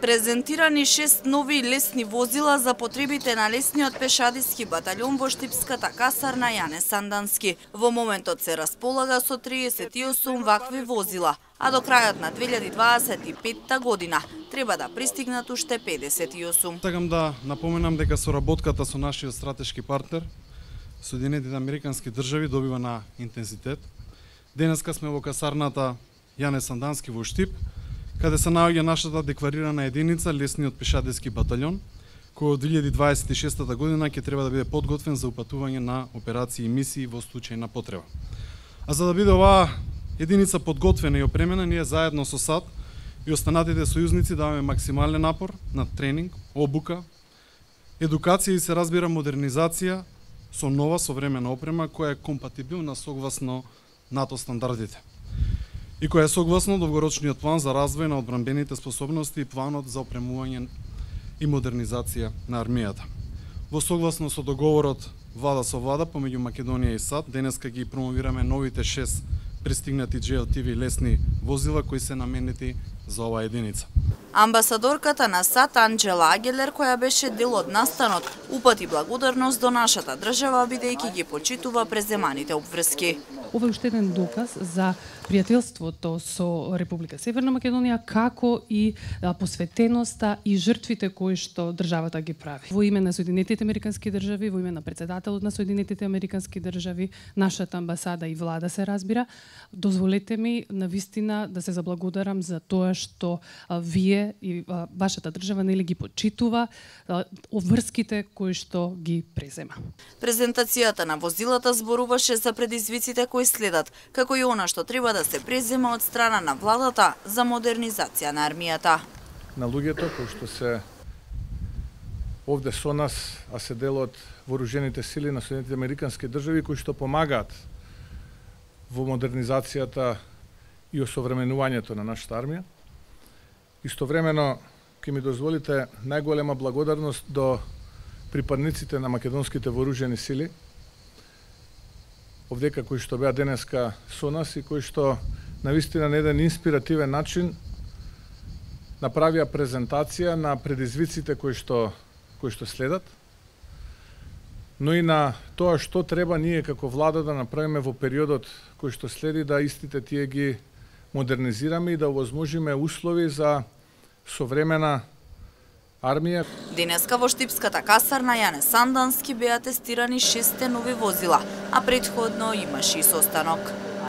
Презентирани 6 нови лесни возила за потребите на лесниот пешадиски баталјон во Штипската касарна Јане Сандански. Во моментот се располага со 38 вакви возила, а до крајот на 2025 година треба да пристигнат уште 58. Сакам да напоменам дека соработката со нашиот стратешки партнер, Соединетите Американски држави, добива на интензитет. Денеска сме во касарната Јане Сандански во Штип, каде се наоѓа нашата декларирана единица лесниот пешадиски баталјон, кој од 2026 година ќе треба да биде подготвен за упатување на операции и мисии во случај на потреба. А за да биде оваа единица подготвена и опремена, ние заедно со САД и останатите сојузници даваме максимален напор на тренинг, обука, едукација и се разбира модернизација со нова современа опрема која е компатибилна согласно НАТО стандардите и која е согласно долгорочниот план за развој на одбранбените способности и планот за опремување и модернизација на армијата. Во согласно со договорот влада со влада помеѓу Македонија и САД, денеска ги промовираме новите 6 пристигнати JLTV лесни возила кои се наменети за оваа единица. Амбасадорката на САД Анџела Агелер, која беше дел од настанот, упати благодарност до нашата држава бидејќи ги почитува преземаните обврски. Ова е уште еден доказ за пријателството со Република Северна Македонија, како и посветеноста и жртвите кои што државата ги прави. Во име на Соединетите Американски држави, во име на председателот на Соединетите Американски држави, нашата амбасада и влада се разбира, дозволете ми навистина да се заблагодарам за тоа што вие и вашата држава нели ги почитува обврските кои што ги презема. Презентацијата на возилата зборуваше за предизвиците кои следат, како и она што треба да се презема од страна на владата за модернизација на армијата. На луѓето кои што се овде со нас, а се дел од вооружените сили на Соединетите Американски држави кои што помагаат во модернизацијата и осовременувањето на нашата армија. Истовремено, ќе ми дозволите најголема благодарност до припадниците на македонските вооружени сили, овдека кои што беа денеска со нас и кои што навистина на еден инспиративен начин направија презентација на предизвиците кои што следат, но и на тоа што треба ние како влада да направиме во периодот кој што следи, да истите тие ги модернизираме и да овозможиме услови за современа армија. Денеска во Штипската касарна Јане Сандански беа тестирани 6 нови возила, а претходно имаше и состанок.